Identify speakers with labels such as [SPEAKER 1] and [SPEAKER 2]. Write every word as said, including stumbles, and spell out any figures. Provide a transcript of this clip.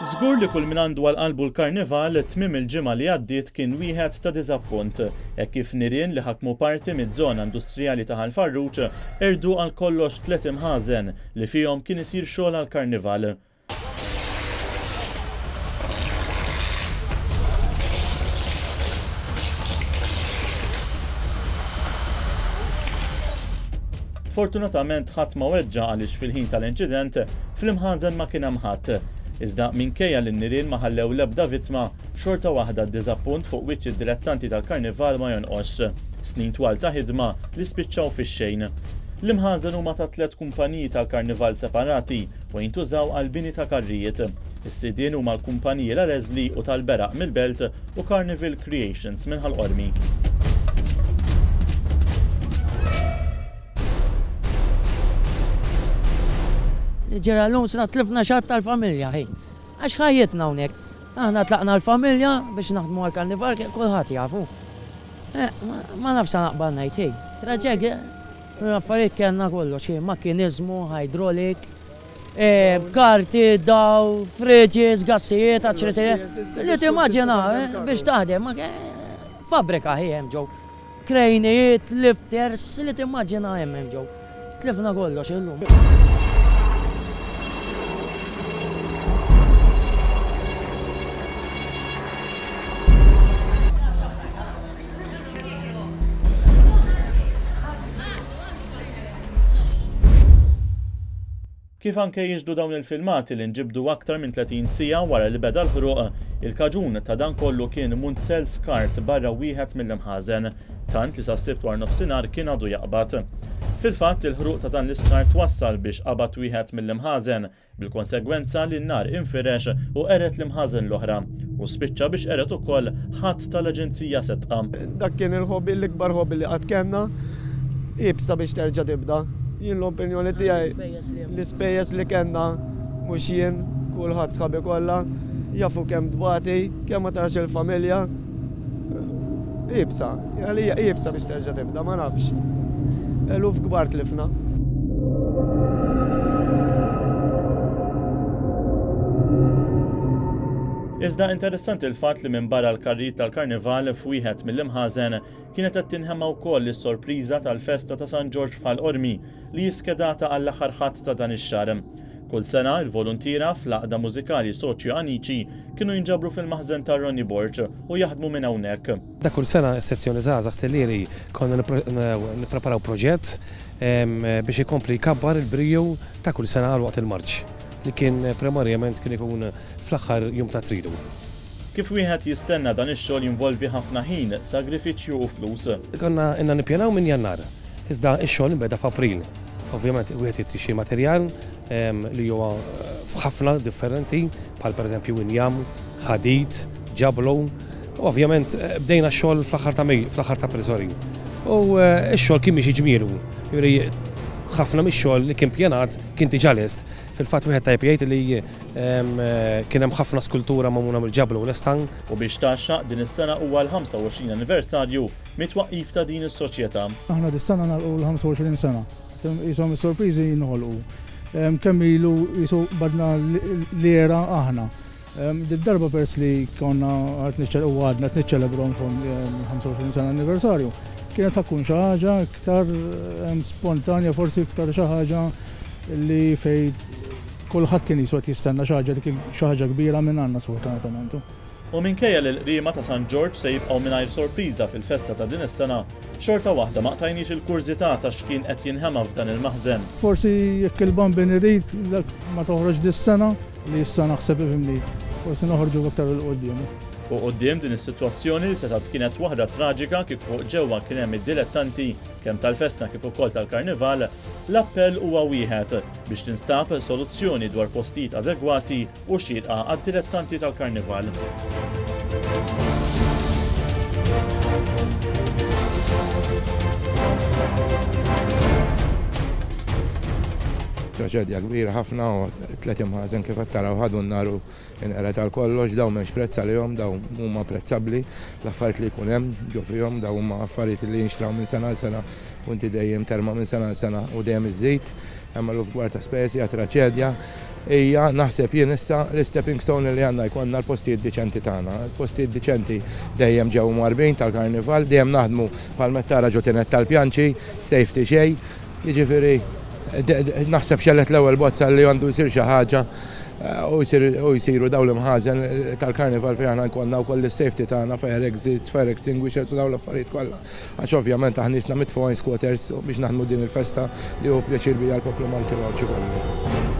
[SPEAKER 1] Żgur li kull min għandu għal qalbu l-karnival, tmiem il-ġimgħa li għaddiet kien wieħed ta' diżappunt, hekk kif nirien li ħakmu parti miż-żona industrijali ta' Ħal Farruġ qerdu għal kollox tliet imħażen li fihom kien isir xogħol għall-karnival. Fortunatament ħadd ma weġġa' għaliex fil-ħin tal-inċident fl-imħażen ma kien hemm ħadd. Iżda minkejja li n-nirien ma ħallew l-ebda vittma, xorta waħda d-diżappunt fuq wiċċ id-dilettanti tal-karnival ma jonqosx. Snin twal ta' ħidma li spiċċaw fix-xejn. L-imħażen huma ta' tliet kumpaniji tal-karnival separati u jintużaw għal bini ta' karrijiet. Is-sidien huma l-kumpaniji La Leslie u tal-Beraq mill-Belt u Carnival Creations minn Ħal Qormi.
[SPEAKER 2] Ġera l-lum sna tlifna xatt tal-familja, ħi. Għax ħajjitna hawnhekk. Aħna tlaqna l-familja biex naħdmu għall-karnival, kulħadd jafu. Ma nafx naqbal ngħid, ħi. Traġedja, affarijiet kellna kollox, ħi, makkiniżmu, hydraulic, karti, daw, fridges, gassijiet, eċċetera. Li timmaġina biex taħdem, fabbrika ħi hemm ġew. Krejnijiet, lifters, li timmaġina hemm hemm ġew. Tlifna kollox illum.
[SPEAKER 1] Kif anke jiġdu dawn il-filmati li nġibdu aktar minn tletin siegħa wara li beda l-ħruq, il-kaġun ta' dan kollu kien munzel skart barra wieħed mill-imħażen, tant li sas-Sibt wara nofsinhar kien għadu jaqbad. Fil-fatt il-ħruq ta' dan l-iskart wassal biex qabad wieħed mill-imħażen, bil-konsegwenza li n-nar infirex u qeret l-imħażen l-oħra u spiċċa biex qeret ukoll ħadd tal-Aġenzija Setqa.
[SPEAKER 3] Dak kien il-hobby, l-ikbar hobby li qatt kellna, iebsa biex terġa' tibda. Jien l-opinjoni tiegħi l-ispejjeż li kellna mhux jien, kulħadd sħabi kollha, jafu kemm tbati, kemm ma tarax il-familja. Iebsa, għalija iebsa biex terġa' tibda, ma nafx. Eluf kbar tlifna.
[SPEAKER 1] Iżda interessanti l-fatt li minn barra l-karrijiet tal-karnival f'wieħed mill-imħażen kienet qed tinħema wkoll is-sorpriża tal-festa ta' San Ġorġ f'Ħal Qormi li hi skedata għall-aħħar ħadd ta' dan ix-xahar. Kull sena il-voluntiera fl-għaqda mużikali Soċjo Anici kienu jinġabru fil-maħżen ta' Ronnie Borg u jaħdmu minn hawnhekk.
[SPEAKER 4] Ta' kull sena s-sezzjoni żgħażagħ Stellieri konna nippreparaw proġett biex ikompli jkabbar il-briju ta' kull sena għal waqt il-marċ li kien primarjament kien ikun fl-aħħar jum ta' tridu.
[SPEAKER 1] Kif wieħed jistenna dan ix-xogħol jinvolvi ħafna ħin, sagrifiċċju u flus.
[SPEAKER 4] Konna inna nippjanaw minn Jannar, iżda x-xogħol inbeda f'April. Ovvjament wieħed jrid xi materjal li huwa f'ħafna differenti, bħal pereżempju injam, ħadid, ġablu. Ovvjament bdejna x-xogħol fl-aħħar ta' Mejju, fl-aħħar ta' April, sorry. U x-xogħol kien miexi ġmielu. Jiġifieri ħafna mix-xogħol li kien pjanat kien diġà lest. Fil-fatt wieħed tajjeb jgħid li kien hemm ħafna skultura magħmula mill-ġablu u l-estang.
[SPEAKER 1] U biex tgħaxxaq din is-sena huwa l-ħamsa u għoxrin anniversarju mit-twaqqif ta' din is-soċjetà.
[SPEAKER 5] Aħna dis-sena nagħlqu l-ħamsa u għoxrin sena. Qishom is-sorpriżi jinħolqu. Kemm ilu qisu badna l-era aħna. Did-darba pers li konna qed niċċel-, u għadna qed niċċelebraw ħamsa u għoxrin sena anniversarju, kienet tkun xi ħaġa iktar spontanja, forsi iktar xi ħaġa li fej kulħadd kien jiswa jistenna xi ħaġa li kien xi ħaġa kbira minn għandna sfortunatament.
[SPEAKER 1] U minkejja li l-qriema ta' San Ġorġ se jibqgħu mingħajr sorpriża fil-festa ta' din is-sena, xorta waħda ma qtajniex il-kurżità ta' x'kien qed jinħema f'dan il-maħżen.
[SPEAKER 5] Forsi jekk il-Bambin irid ma toħroġ dis-sena, li issa naħseb ifhimni, forsi noħorġu aktar il quddiem.
[SPEAKER 1] U quddiem din is-sitwazzjoni li setgħet kienet waħda traġika kif fuq ġewwa kien hemm id-dilettanti kemm tal-festa kif ukoll tal-karnival, l-appell huwa wieħed biex tinstab soluzzjoni dwar postijiet adegwati u xierqa għad-dilettanti tal-karnival.
[SPEAKER 6] Traġedja kbira ħafna u tliet imħażen kif qed taraw ħadu n-nar u inqered għal kollox, dawn m'hemmx prezz għalihom, dawn huma prezzabbli, l-affarijiet li jkun hemm ġo fihom, dawn huma affarijiet li jinxtraw minn sena għal sena u inti dejjem terma' minn sena għal sena u dejjem iżżid, hemm eluf kbar ta' spejjeż, hija traġedja. Hija naħseb jien issa l-stepping stone li għandna jkollna l-postijiet diċenti tagħna. Il-postijiet diċenti dejjem ġew marbin tal-karnival, dejjem naħdmu bħal mettara ġo tinet tal-pjanċi, safety xejn, jiġifieri naħseb xellet l-ewwel bozza li għandu jsir xi ħaġa u jsiru dawn l-imħażen tal-karnival fejn aħna nkollna wkoll is-safety tagħna, fire exits, fire extinguishers u dawn l-affarijiet kollha. Għax ovvjament aħna nisna mitfugħin squatters biex naħdmu din il-festa li hu pjaċir bija l-poplu Malti u Għawdxi kollu.